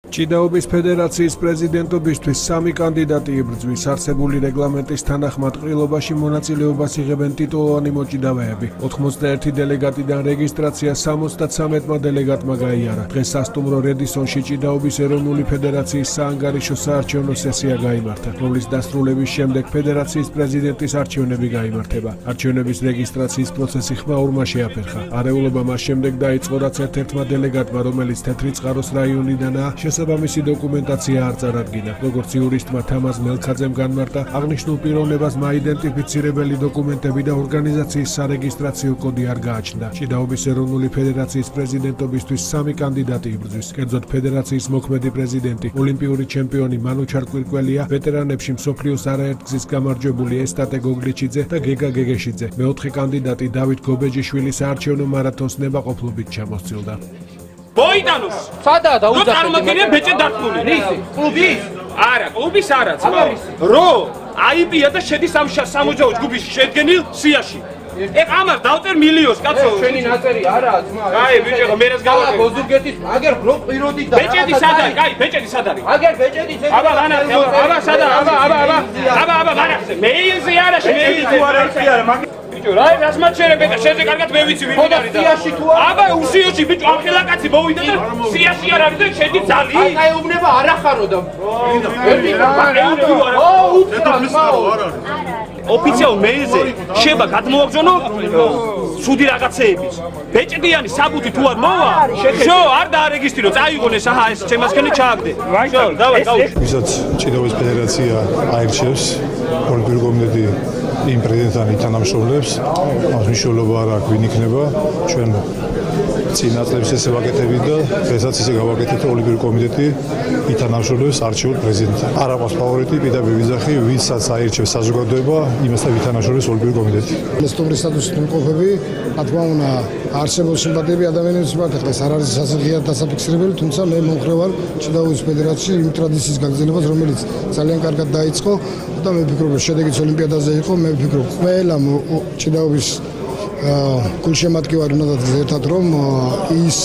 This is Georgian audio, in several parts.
ჭიდაობის ფედერაციის პრეზიდენტობისთვის სამი კანდიდატი იბრძვის. არსებული რეგლამენტის თანახმად ყრილობაში მონაწილეობას იღებენ ტიტულოვანი მოჭიდავეები. 91 დელეგატიდან რეგისტრაცია 73-მა დელეგატმა გაიარა. დღეს სასტუმრო რედისონში ჭიდაობის ეროვნული ფედერაციის საანგარიშო საარჩევნო სესია გაიმართა, რომლის დასრულების შემდეგ ფედერაციის პრეზიდენტის არჩევნები გაიმართება. არჩევნების რეგისტრაციის პროცესი ხმაურმა შეაფერხა. არეულობა მას შემდეგ დაიწყო, რაც ერთ-ერთმა დელეგატმა, რომელიც თეთრიწყაროს რაიონიდანაა, შესაბამისი დოკუმენტაცია არ წარადგინა. როგორც იურისტმა თამაზ მელქაძემ განმარტა, აღნიშნულ პიროვნებას მაიდენტიფიცირებელი დოკუმენტები და ორგანიზაციის სარეგისტრაციო კოდი არ გააჩნდა. ჭიდაობის ეროვნული ფედერაციის პრეზიდენტობისთვის სამი კანდიდატი იბრძვის. კერძოდ ფედერაციის მოქმედი პრეზიდენტი, ოლიმპიური ჩემპიონი მანუ ჩარკვირკველია, ვეტერანებში მსოფლიოს არაერთგზის გამარჯვებული ესტატე გოგლიჩიძე და გეგა გეგეშიძე. მეოთხე კანდიდატი დავით გობეჯიშვილი საარჩევნო მარათონს ნებაყოფლობით ჩამოსცილდა. Boidanus! Sada da uza. Წარმოგიდგენია ბეჭე დართული. რისი? კლუბის? არა, კლუბის არა, ძმა. რო აიბია და შედის ამ სამოჯაო ჯგუფის შედგენილ სიაში. ეგ ამას დავწერ მილიონს, კაცო. შენი ნაწერი არა, ძმა. კაი, ბიჭო, მე რას გავაკეთე? გოზურგეთის, აგერ რო პიროდი და. ბეჭედი სად არის? კაი, ბეჭედი სად არის? აგერ ბეჭედი ეს. აბა, ვანახე, აბა, სად არის? აბა, ვანახე. მეილზე არა, მეილზე არა, არა, მაგ ბიჭო, რა რას მაჩერებ ეხა შეზე კარგად მე ვიცი ვინ არის და სიაში თუ არა? აბა უსიოში ბიჭო, ახლა კაცი მოვიდა და სიაში არ არის და შედი ძალი. აი უნება არ ახარო და. ოფიციალურ მეილზე შეება გადმოაგზავნო სუდი რაღაცეების. ბეჭდიანი საბუთი თუ არ მოვა, შო არ დაარეგისტრო, წაიღონეს აჰა ეს ჩემასქენი ჩააგდე. შო, დავай, გავუშვი. ვისაც ჭიდაობის ფედერაცია აირჩევს ოლიმპიური კომიტეტი იმ პრეზიდენტთან ითანამშრომლებს, მას მნიშვნელობა არ აქვს ვინ იქნება, ჩვენ წინა წლებს ესე ვაკეთებით და დღესაც ისე გავაკეთეთ, ოლიმპიური კომიტეტი ითანამშრომლებს არჩეულ პრეზიდენტთან. არ აქვს ფავორიტი, პირდაპირ ვიძახი, ვისაც აირჩევს საზოგადოება, იმასთან ვითანამშრომლებს ოლიმპიური კომიტეტი. სტუმრის სტატუსით მყოფები, რა თქმა უნდა, არსებულ სიმპათიები ადამიანებს მიმართ ეს არ არის სასიხიათ დასაფიქსირებელი, თუმცა მე მომხრე ვარ ჭიდაობის ფედერაციის იმ ტრადიციის გაგრძელებას, რომელიც ძალიან კარგად დაიწყო და მე ვფიქრობ, რომ შედეგიც ოლიმპიადაზე იყო, მე ვფიქრობ, ყველა ჭიდაობის გულშემატკივარი უნდა დადგეს ერთად, რომ ის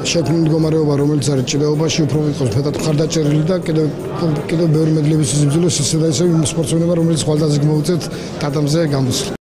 შექმნილი მდგომარეობა, რომელიც არის ჭიდაობაში, უფრო იყოს მეტად მხარდაჭერილი და კიდევ ბევრი მედლების სიმძილოს ისე და ისე იმ სპორტსმენებმა, რომელიც ხვალდაზეც მოუწევთ დადამზე გამოსვლა.